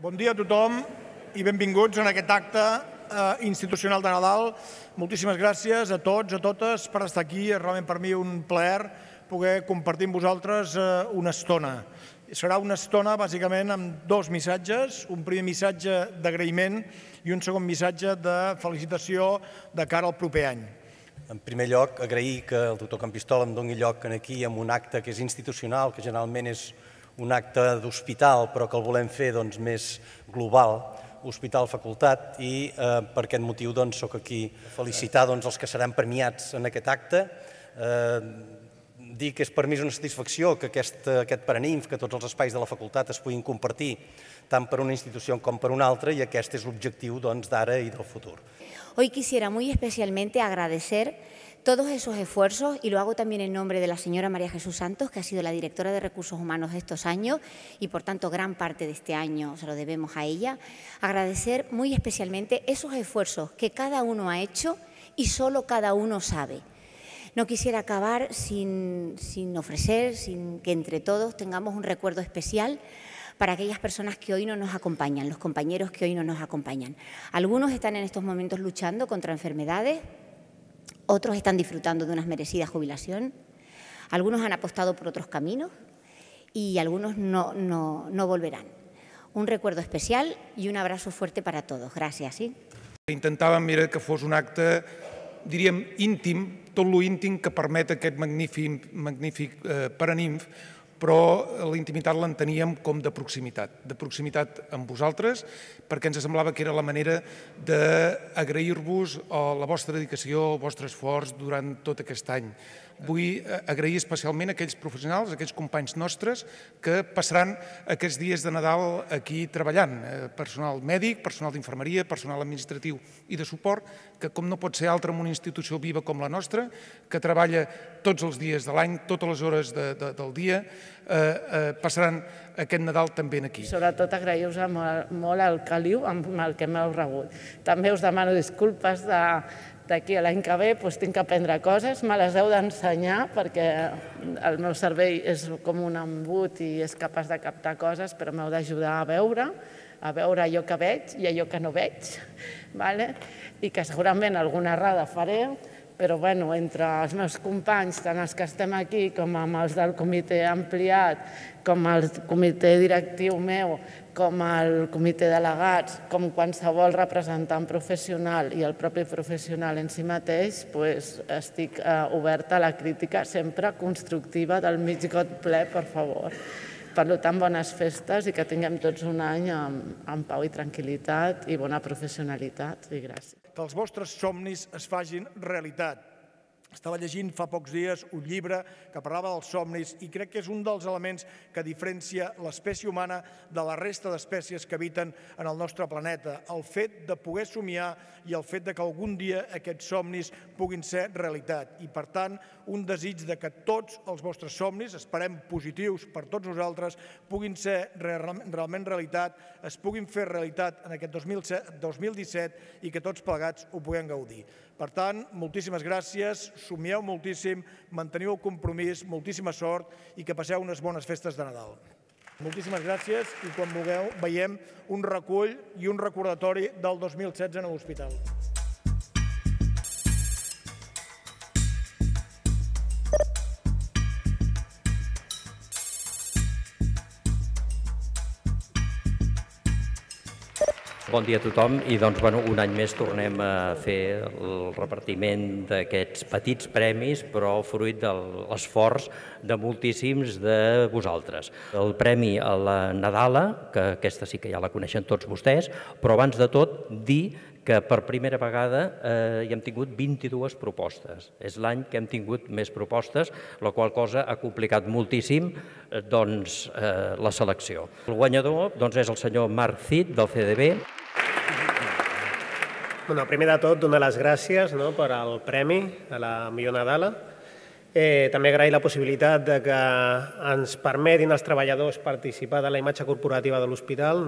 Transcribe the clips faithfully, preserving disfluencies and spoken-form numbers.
Bon dia a tothom i benvinguts en aquest acte institucional de Nadal. Moltíssimes gràcies a tots, a totes, per estar aquí. És realment per mi un plaer poder compartir amb vosaltres una estona. Serà una estona, bàsicament, amb dos missatges. Un primer missatge d'agraïment i un segon missatge de felicitació de cara al proper any. En primer lloc, agrair que el doctor Campistola em doni lloc aquí amb un acte que és institucional, que generalment és un acte d'hospital, però que el volem fer més global, hospital-facultat, i per aquest motiu soc aquí a felicitar els que seran premiats en aquest acte. Dir que és per mi una satisfacció que aquest Paraninf, que tots els espais de la facultat es puguin compartir tant per una institució com per una altra, i aquest és l'objectiu d'ara i del futur. Hoy quisiera muy especialmente agradecer todos esos esfuerzos, y lo hago también en nombre de la señora María Jesús Santos, que ha sido la directora de Recursos Humanos de estos años y por tanto gran parte de este año se lo debemos a ella. Agradecer muy especialmente esos esfuerzos que cada uno ha hecho y solo cada uno sabe. No quisiera acabar sin, sin ofrecer, sin que entre todos tengamos un recuerdo especial para aquellas personas que hoy no nos acompañan, los compañeros que hoy no nos acompañan. Algunos están en estos momentos luchando contra enfermedades, otros están disfrutando de una merecida jubilación, algunos han apostado por otros caminos y algunos no, no, no volverán. Un recuerdo especial y un abrazo fuerte para todos. Gràcies. Sí? Intentàvem mira, que fos un acte, diríem, íntim, tot lo íntim que permet aquest magnífic, magnífic eh, Paraninf, però la intimitat l'enteníem com de proximitat, de proximitat amb vosaltres, perquè ens semblava que era la manera d'agrair-vos la vostra dedicació, el vostre esforç durant tot aquest any. Vull agrair especialment a aquells professionals, a aquells companys nostres que passaran aquests dies de Nadal aquí treballant. Personal mèdic, personal d'infermeria, personal administratiu i de suport, que com no pot ser altre en una institució viva com la nostra, que treballa tots els dies de l'any, totes les hores de, de, del dia, eh, eh, passaran aquest Nadal també aquí. Sobretot agrair-vos molt el caliu amb el que m'heu rebut. També us demano disculpes de d'aquí a l'any que ve doncs tinc que aprendre coses, me les heu d'ensenyar perquè el meu cervell és com un embut i és capaç de captar coses, però m'heu d'ajudar a veure, a veure allò que veig i allò que no veig, i que segurament alguna errada faré, però entre els meus companys, tant els que estem aquí com amb els del comitè ampliat, com el comitè directiu meu, com el comitè delegats, com qualsevol representant professional i el propi professional en si mateix, estic oberta a la crítica sempre constructiva del mig got ple, per favor. Per tant, bones festes i que tinguem tots un any amb pau i tranquil·litat i bona professionalitat. I gràcies. Que els vostres somnis es facin realitat. Estava llegint fa pocs dies un llibre que parlava dels somnis i crec que és un dels elements que diferencia l'espècie humana de la resta d'espècies que habiten en el nostre planeta. El fet de poder somiar i el fet que algun dia aquests somnis puguin ser realitat. I, per tant, un desig que tots els vostres somnis, esperem positius per tots nosaltres, puguin ser realment realitat, es puguin fer realitat en aquest dos mil disset i que tots plegats ho puguem gaudir. Per tant, moltíssimes gràcies, somieu moltíssim, manteniu el compromís, moltíssima sort i que passeu unes bones festes de Nadal. Moltíssimes gràcies i quan vulgueu veiem un recull i un recordatori del dos mil setze en l'hospital. Bon dia a tothom i doncs un any més tornem a fer el repartiment d'aquests petits premis però fruit de l'esforç de moltíssims de vosaltres. El premi a la Nadala, que aquesta sí que ja la coneixen tots vostès, però abans de tot dir que per primera vegada hi hem tingut vint-i-dues propostes. És l'any que hem tingut més propostes, la qual cosa ha complicat moltíssim la selecció. El guanyador és el senyor Marc Cid, del C D B. Primer de tot, donar les gràcies per al premi a la millor Nadala. També agrair la possibilitat que ens permetin als treballadors participar de la imatge corporativa de l'hospital.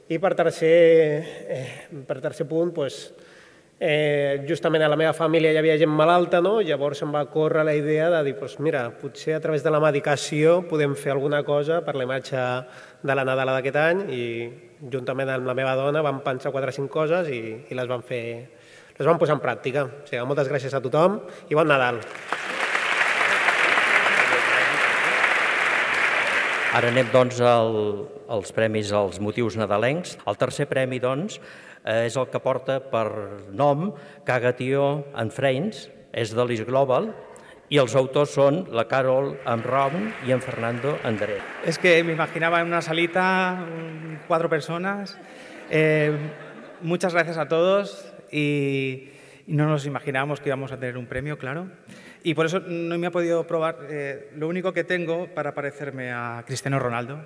I per tercer punt, Justament a la meva família hi havia gent malalta, llavors em va córrer la idea de dir, mira, potser a través de la medicació podem fer alguna cosa per la imatge de la Nadala d'aquest any i juntament amb la meva dona vam pensar quatre o cinc coses i les vam fer, les vam posar en pràctica. O sigui, moltes gràcies a tothom i bon Nadal. Ara anem, doncs, als premis als motius nadalencs. El tercer premi, doncs, és el que porta per nom Caga-Tió and Friends, és de l'Is Global, y els autors son la Carol Amraun y en Fernando André. Es que me imaginaba en una salita, cuatro personas. Eh, muchas gracias a todos y, y no nos imaginábamos que íbamos a tener un premio, claro. Y por eso no me ha podido probar. Eh, lo único que tengo para parecerme a Cristiano Ronaldo.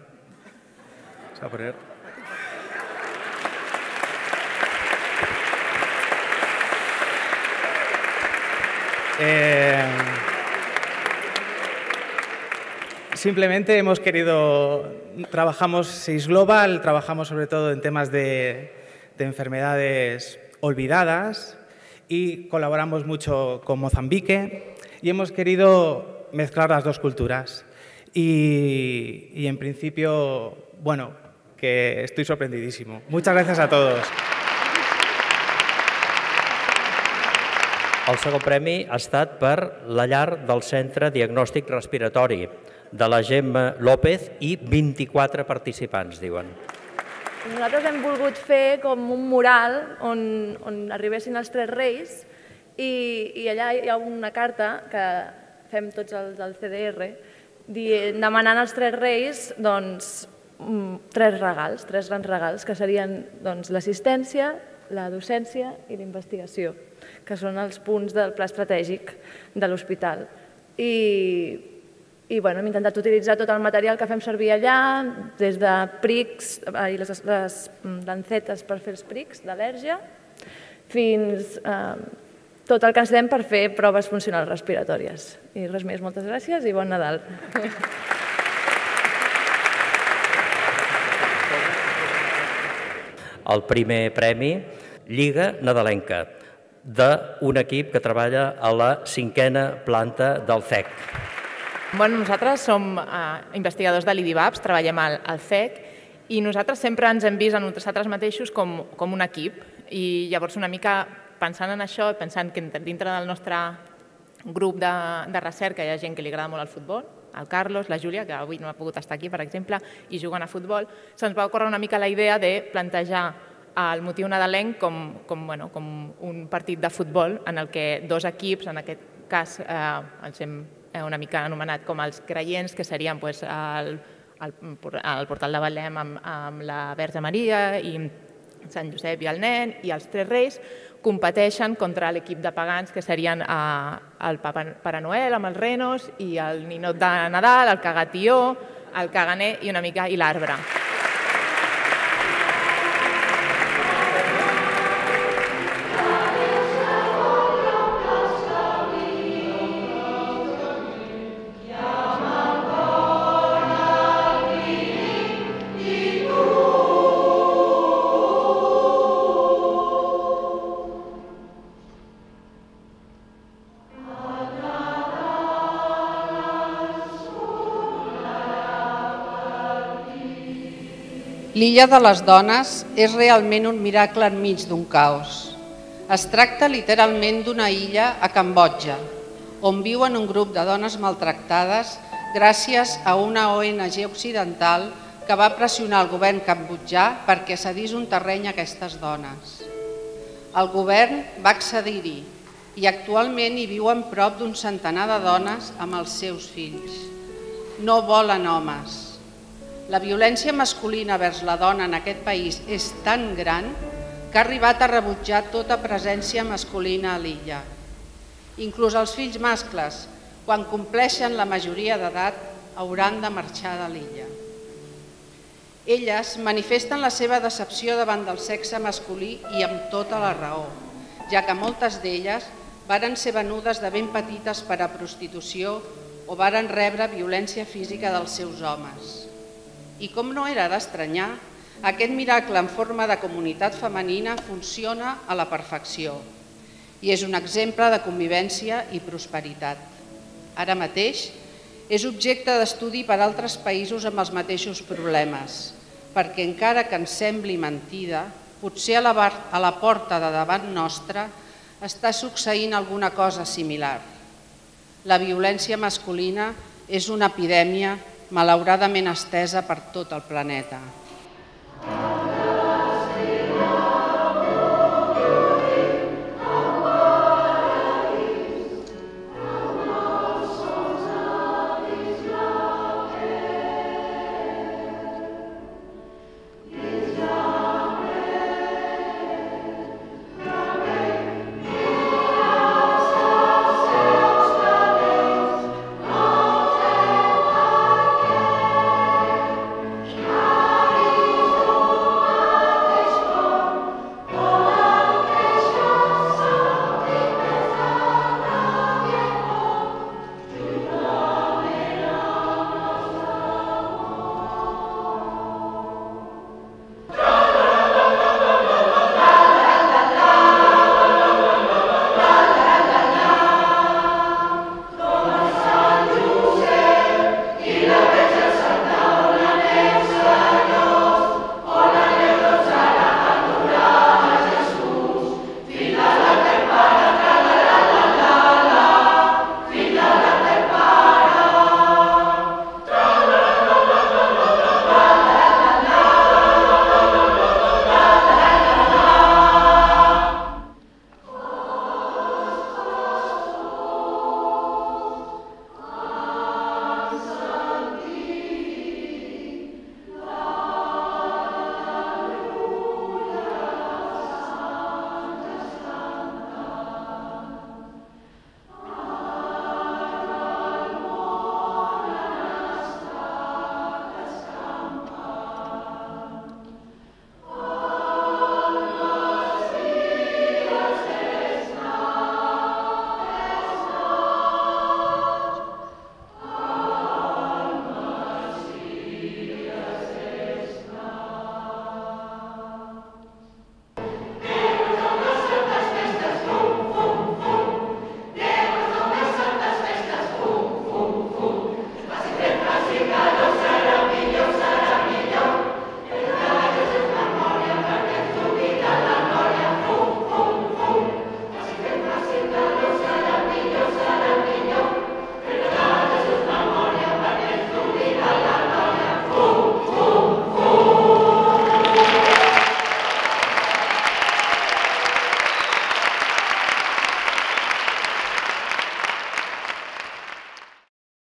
Se va a poner. Eh, simplemente hemos querido, trabajamos Seis Global, trabajamos sobre todo en temas de, de enfermedades olvidadas y colaboramos mucho con Mozambique y hemos querido mezclar las dos culturas y, y en principio, bueno, que estoy sorprendidísimo. Muchas gracias a todos. El segon premi ha estat per la llar del Centre Diagnòstic Respiratori de la Gemma López i vint-i-quatre participants, diuen. Nosaltres hem volgut fer com un mural on, on arribessin els Tres Reis i, i allà hi ha una carta que fem tots els del C D R dient, demanant als Tres Reis doncs, tres regals, tres grans regals, que serien doncs, l'assistència, la docència i la investigació, que són els punts del pla estratègic de l'hospital. I, i bueno, hem intentat utilitzar tot el material que fem servir allà, des de prics i les, les lancetes per fer els prics d'al·lèrgia, fins a eh, tot el que ens fem per fer proves funcionals respiratòries. I res més, moltes gràcies i bon Nadal. El primer premi, Lliga Nadalenca, d'un equip que treballa a la cinquena planta del C E C. Bueno, nosaltres som eh, investigadors de l'I D I B A P S, treballem al, al C E C i nosaltres sempre ens hem vist a nosaltres mateixos com, com un equip i llavors una mica pensant en això, pensant que dintre del nostre grup de, de recerca hi ha gent que li agrada molt el futbol, el Carlos, la Júlia, que avui no ha pogut estar aquí, per exemple, i juguen a futbol, se'ns va ocórrer una mica la idea de plantejar el motiu nadalenc com, com, bueno, com un partit de futbol en el que dos equips, en aquest cas eh, els hem una mica anomenat com els creients, que serien pues, el, el, el portal de Betlem amb, amb la Verge Maria i Sant Josep i el nen, i els Tres Reis competeixen contra l'equip de pagans, que serien eh, el Papa, Pare Noel amb els renos i el ninot de Nadal, el Caga-Tió, el caganer i una mica i l'arbre. L'illa de les dones és realment un miracle enmig d'un caos. Es tracta literalment d'una illa a Cambodja, on viuen un grup de dones maltractades gràcies a una O N G occidental que va pressionar el govern cambodjà perquè cedís un terreny a aquestes dones. El govern va accedir-hi i actualment hi viuen prop d'un centenar de dones amb els seus fills. No volen homes. La violència masculina vers la dona en aquest país és tan gran que ha arribat a rebutjar tota presència masculina a l'illa. Inclús els fills mascles, quan compleixen la majoria d'edat, hauran de marxar de l'illa. Elles manifesten la seva decepció davant del sexe masculí i amb tota la raó, ja que moltes d'elles varen ser venudes de ben petites per a prostitució o varen rebre violència física dels seus homes. I com no era d'estranyar, aquest miracle en forma de comunitat femenina funciona a la perfecció. i és un exemple de convivència i prosperitat. Ara mateix és objecte d'estudi per a altres països amb els mateixos problemes, perquè encara que ens sembli mentida, potser a la, a la porta de davant nostra està succeint alguna cosa similar. La violència masculina és una epidèmia malauradament estesa per tot el planeta.